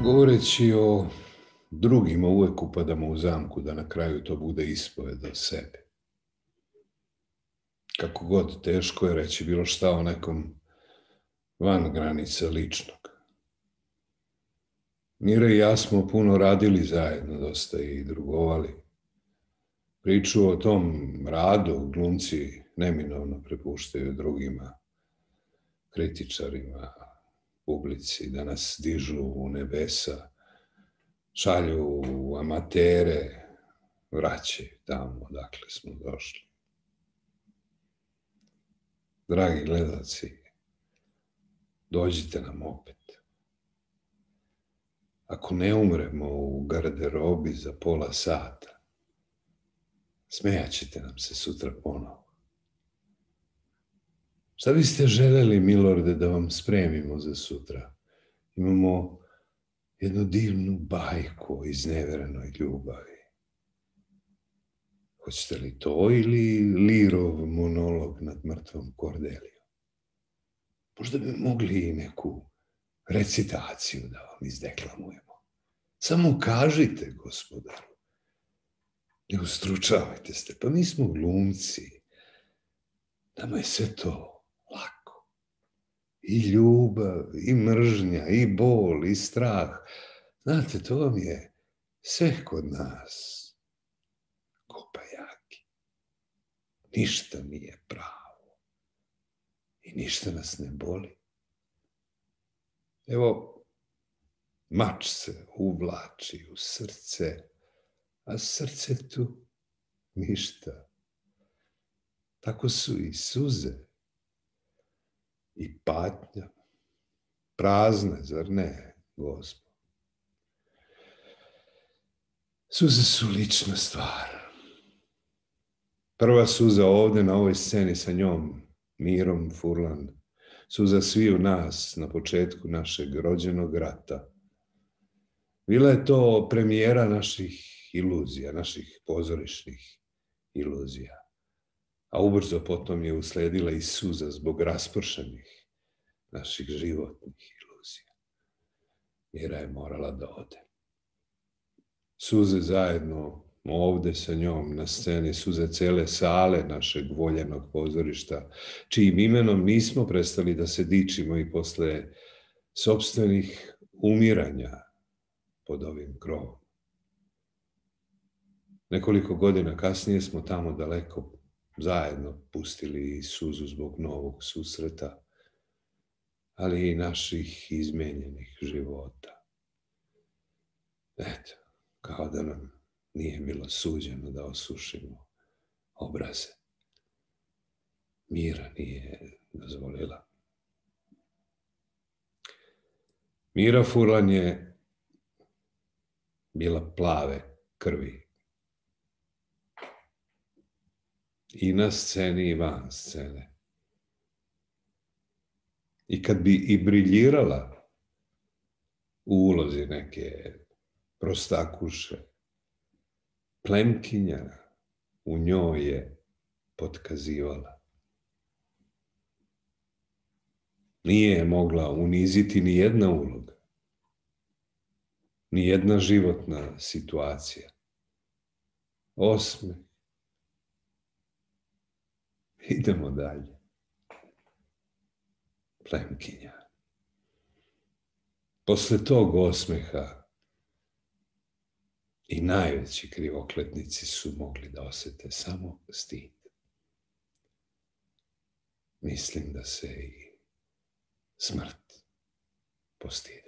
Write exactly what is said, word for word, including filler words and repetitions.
Govoreći o drugima uvek upadamo u zamku da na kraju to bude ispoved o sebi. Kako god teško je reći bilo šta o nekom van granice ličnog. Mira i ja smo puno radili zajedno, dosta i drugovali. Priču o tom radu glumci neminovno prepuštaju drugima, kritičarima, publici, da nas dižu u nebesa, šalju u amatere, vraćaju tamo odakle smo došli. Dragi gledalci, dođite nam opet. Ako ne umremo u garderobi za pola sata, smejat ćete nam se sutra ponovo. Šta biste želeli, milorde, da vam spremimo za sutra? Imamo jednu divnu bajku o izneverenoj ljubavi. Hoćete li to ili Lirov monolog nad mrtvom Kordelijom? Možda bi mogli i neku recitaciju da vam izdeklamujemo. Samo kažite, gospodaru. Ne ustručavajte se, pa mi smo glumci. Nama je sve to lako. I ljubav, i mržnja, i bol, i strah. Znate, to vam je sve kod nas. Kopajaki. Ništa nije pravo. I ništa nas ne boli. Evo, mač se uvlači u srce, a srce tu ništa. Tako su i suze i patnja. Prazne, zar ne, Gospod? Suze su lična stvar. Prva suza ovdje na ovoj sceni sa njom, Mirom Furlan, suza sviju nas na početku našeg rođenog rata. Bila je to premijera naših iluzija, naših pozorišnih iluzija. A ubrzo potom je usledila i suza zbog raspršenih naših životnih iluzija. Mira je morala da ode. Suze zajedno ovdje sa njom na sceni, suze cele sale našeg voljenog pozorišta, čijim imenom nismo prestali da se dičimo i posle sopstvenih umiranja pod ovim krovom. Nekoliko godina kasnije smo tamo daleko zajedno pustili suzu zbog novog susreta, ali i naših izmenjenih života. Eto, kao da nam nije bilo suđeno da osušimo obraze. Mira nije dozvolila. Mira Furlan je bila plave krvi. I na sceni i van scene. I kad bi i briljirala u ulozi neke prostakuše, plemkinja u njoj je potkazivala. Nije je mogla uniziti ni jedna uloga, ni jedna životna situacija. Osmeh. Idemo dalje. Plemkinja. Posle tog osmeha i najveći krivokletnici su mogli da osete samo stid. Mislim da se i smrt postidi.